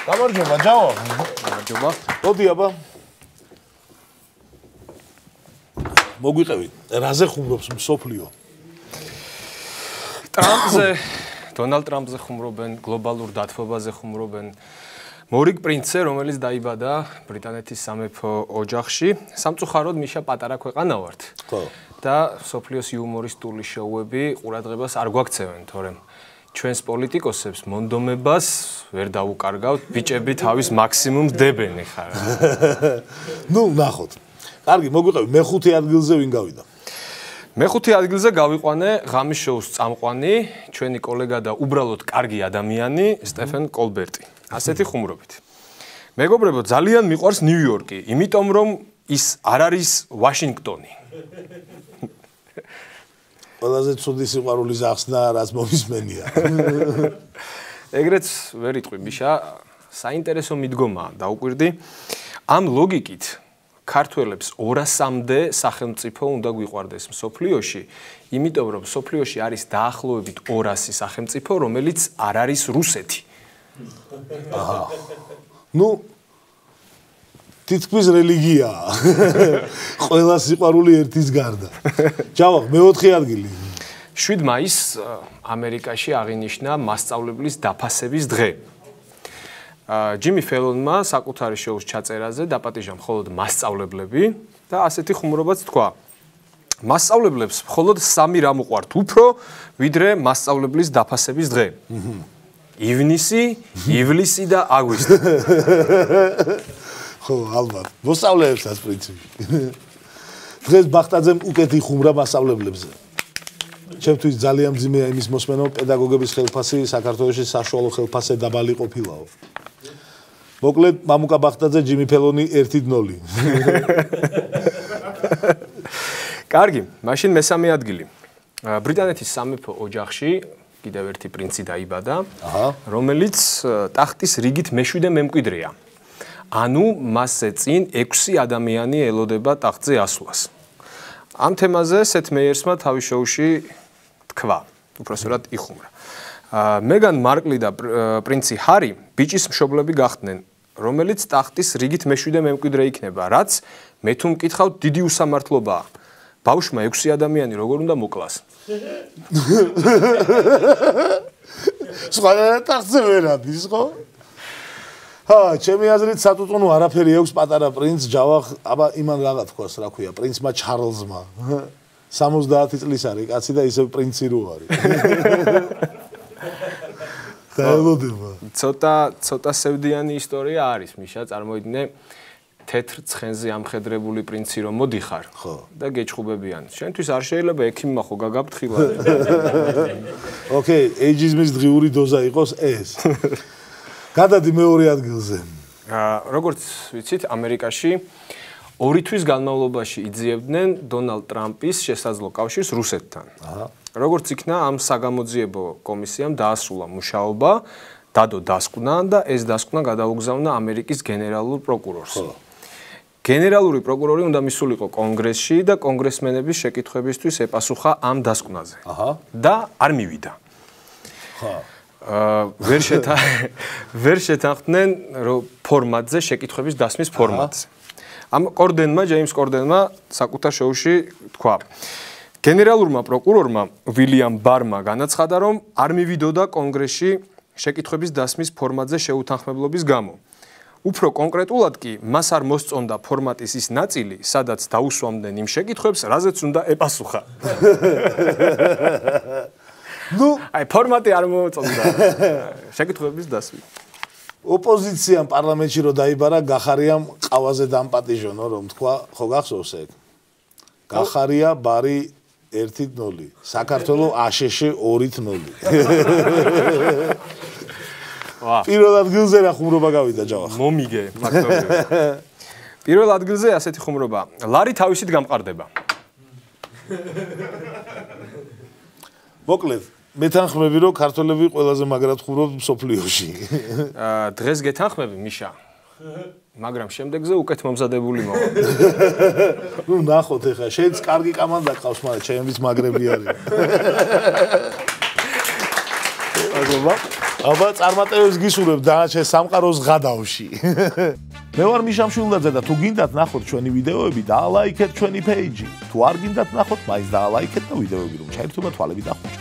გამარჯობა, ჯავა. გამარჯობა. მოდი აბა. მოგვიყევი. რაზე ხუმრობს მსოფლიო? ტრამპზე, დონალდ ტრამპზე ხუმრობენ, გლობალურ დათბობაზე ხუმრობენ. მორიგ პრინცზე, რომელიც დაიბადა ბრიტანეთის სამეფო ოჯახში, სამწუხაროდ მიშა პატარა ქვეყანა ვართ. ხო. და სოფლიოს იუმორისტული შოუები ყურადღებას არ გვაქცევენ, თორემ ჩვენს პოლიტიკოსებს მონდომებას ვერ დაუკარგავთ, ბიჭები თავის მაქსიმუმს დებენ ხარ. ნუ ნახოთ. კარგი, მოგვიყევი, მეხუთე ადგილზე ვინ გავიდა? მეხუთე ადგილზე გავიყვანე ღამის შოუს წამყვანი, ჩვენი კოლეგა და უბრალოდ კარგი ადამიანი, სტეფენ კოლბერტი. ასეთი ხუმრობით. მეგობრებო, ძალიან მიყვარს ნიუ-იორკი, იმიტომ რომ ის არ არის ვაშინგტონი. ყველაზე ცუდი სიყვარულის ახსნა, რაც მომისმენია. ეგრეც ვერ იტყვი, მიშა, საინტერესო მიდგომაა, დაუკვირდი. ამ ლოგიკით ქართველებს 200-მდე სახელმწიფო უნდა გვიყვარდეს მსოფლიოში, იმიტომ რომ მსოფლიოში არის დაახლოებით 200 სახელმწიფო, რომელიც არ არის რუსეთი. აჰა. ნუ თითქმის რელიგიაა. ყველა სიყვარული ერთის გარდა. ჯავა, მეოთხე ადგილი. 7 მაისს ამერიკაში აღინიშნა მასწავლებლის დაფასების დღე. ჯიმი ფელონმა საკუთარი შოუს ჩაწერაზე დაპატიჟა მხოლოდ მასწავლებლები და ასეთი ხუმრობაც თქვა. მასწავლებლებს მხოლოდ 3 რამ უყვართ უფრო, ვიდრე მასწავლებლის დაფასების დღე. ივნისი, ივლისი და აგვისტო. ხო, ალბათ. მოსწავლეებსაც პრინციპი. დღეს ბახტაძემ უკეთი ხუმრა მასწავლებლებზე. ჩემთვის ძალიან მძიმეა იმის მოსმენა, რომ პედაგოგების ხელფასი საქართველოში საშუალო ხელფასზე დაბალი ყოფილაო. მოკლედ, მამუკა ბახტაძე, ჯიმი ფელონი 1-0. კარგი, მაშინ მესამე ადგილი. ბრიტანეთის სამეფო ოჯახში კიდევ ერთი პრინცი დაიბადა, რომელიც ტახტის რიგით მე-7 მემკვიდრეა. ანუ მასზე წინ 6 ადამიანი ელოდება ტახტზე ასვლას. ამ თემაზე სეთ მეიერსმა თავის შოუში თქვა, უпроსტად იხუმრა. მეგან მარკლი და პრინცი ჰარი ბიჭის მშობლები გახდნენ, რომელიც ტახტის რიგით მე-7 მემკვიდრე იქნება, რაც მე თუ მკითხავთ დიდი უსამართლობაა. ბავშვმა 6 ადამიანი როგორ უნდა მოკლას? სხვა ტახტზე ვერ ადის, ხო? ჩემი აზრით სატუტუნო არაფერი აქვს პატარა პრინც ჯავახ, აბა იმან რაღა თქვას, რა ქვია, პრინცმა ჩარლზმა. 70 წლის არის კაცი და ისევ პრინცი რო არის. დაელოდება. ცოტა სევდიანი ისტორია არის, მიშა, წარმოიდგინე თეთრ ცხენზე ამხედრებული პრინცი რომ მოდიხარ და გეჭხუბებიან. შენთვის არ შეიძლება ექიმმა ხო გაგაფრთხილა. ოკეი, ეიჯიზმის დღიური დოზა იყოს ეს. გადადი მეორე ადგილზე. როგორც ვიცით, ამერიკაში 2 თვის განმავლობაში იძიებდნენ დონალდ ტრამპის შესაძლო კავშირს რუსეთთან. როგორც იქნა ამ საგამოძიებო კომისიამ დაასრულა მუშაობა, დადო დასკვნა და ეს დასკვნა გადაუგზავნა ამერიკის გენერალურ პროკურორს. გენერალური პროკურორი უნდა მისულიყო კონგრესში და კონგრესმენების შეკითხვებისთვის ეპასუხა ამ დასკვნაზე. და არ მივიდა. ვერ შეთანხმდნენ ფორმატზე, შეკითხვების დასმის ფორმატზე. ამ კორდენმა, ჯეიმს კორდენმა საკუთარ შოუში თქვა: გენერალურმა პროკურორმა ვილიამ ბარმა განაცხადა, რომ არ მივიდოდა კონგრესში შეკითხვების დასმის ფორმატზე შეუთანხმებლობის გამო. უფრო კონკრეტულად კი, მას არ მოსწონდა ფორმატის ის ნაწილი, სადაც დაუსვამდნენ იმ შეკითხვებს, რაზეც უნდა ეპასუხა. ნუ, აი ფორმატი არ მოწონდა. შეკითხვების დასმი. ოპოზიციამ პარლამენტში რო დაიბარა, გახარიამ ყავაზე დამპატიჟონო, რომ თქვა, ხო გახსოვს ეგ? გახარია ბარი 1-0. საქართველოს აშშ 2-0. პირველ ადგილზე რა ხუმრობა გავიდა ჯავახ? მომიგე, ფაქტობრივად. პირველ ადგილზე ასეთი ხუმრობა. ლარი თავისით გამყარდება. მოკლედ, მეთანხმები რომ ქართველები ყველაზე მაგრად ხუმრობთ მსოფლიოში. დღეს გეთანხმები, მიშა. მაგრამ შემდეგზე უკეთ მომზადებული მოვა. ნუ ნახოთ ეხლა, შენც კარგი კამანდა ყავს, მაგრამ ჩემიც მაგრები არის. აგობა. აბა წარმატებებს გისურვებ დანარჩენ სამყაროს ღადავში. მე ვარ მიშა მშვილდაძე და თუ გინდათ ნახოთ ჩვენი ვიდეოები, დაალაიქეთ ჩვენი პეიჯი. თუ არ გინდათ ნახოთ, მაინც დაალაიქეთ და ვიდეოები რომ ჩაირთვება თვალები და ხუჭი.